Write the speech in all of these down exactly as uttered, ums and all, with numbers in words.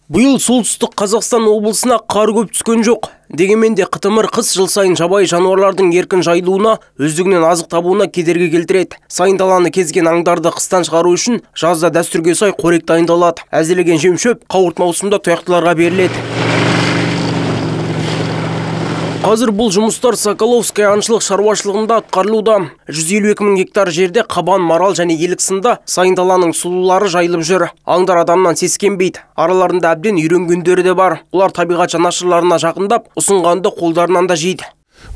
Бұйыл солтүстік Қазақстан облысына қар көп түскен жоқ. Дегенмен де қытымыр қыс жыл сайын жабайы жануарлардың еркін жайылуына, өздігінен азық табуына кедергі келтіреді. Сайын даланы кезген аңдарды қыстан шығару үшін жазда дәстүрге сай қорек дайындалады. Әзірлеген жем-шөп қауырт маусымда тұяқтыларға беріледі. Қазір бұл жұмыстар Соколовская аңшылық шаруашылығында атқарылуда. жүз елу екі мың гектар жерде қабан, марал және елік сынды сайын даланың сұлулары жайылып жүр. Аңдар адамнан сескенбейді. Араларында әбден үйренгендері де бар. Олар табиғат жанашырларына жақындап, ұсынғанды қолдарынан да жейді.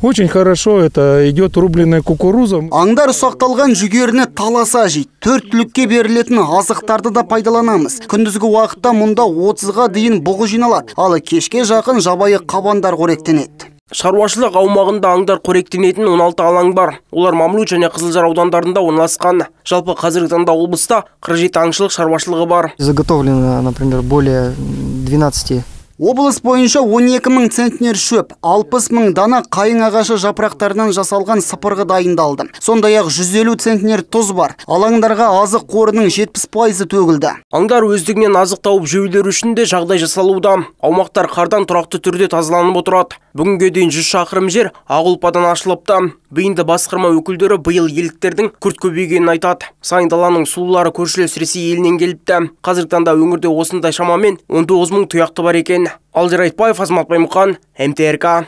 Очень хорошо, это идет рубленная кукуруза. Аңдар ұсақталған жүгеріні таласа жейді. Төрт түлікке берілетін азықтарды да пайдаланамыз. Күндізгі уақытта мұнда отызға дейін бұғы жиналады. Ал кешке жақын жабайы қабандар қоректенеді. Шаруашылық аумағында аңдар қоректенетін он алты алаң бар. Олар Мамлют және Қызылжар аудандарында орналасқан. Жалпы қазіргі таңда облыста қырық жеті аңшылық шаруашылығы бар. Заготовлено, например, более двенадцати. Облыс бойынша он екі мың центнер шөп, алпыс мың дана қайың ағашы жапырақтарынан жасалған сыпырғы дайындалды. Сондай-ақ жүз елу центнер тұз бар. Алаңдарға азық қорының жетпіс пайызы төгілді. Аңдар өздігінен азық тауып жеулері үшін де жағдай жасалуда. Аумақтар қардан тұрақты түрде тазаланып отырады. Бүгінге дейін жүз шақырым жер ақ ұлпадан ашылыпты. Бейінді басқарма өкілдері биыл еліктердің күрт көбейгенін айтады. Сайын даланың сұлулары көршілес Ресей елінен келіпті. Қазіргі таңда өңірде осындай шамамен он тоғыз мың тұяқты бар екен. Алдияр Айтбаев, Азамат Баймұхан, эм тэ эр ка.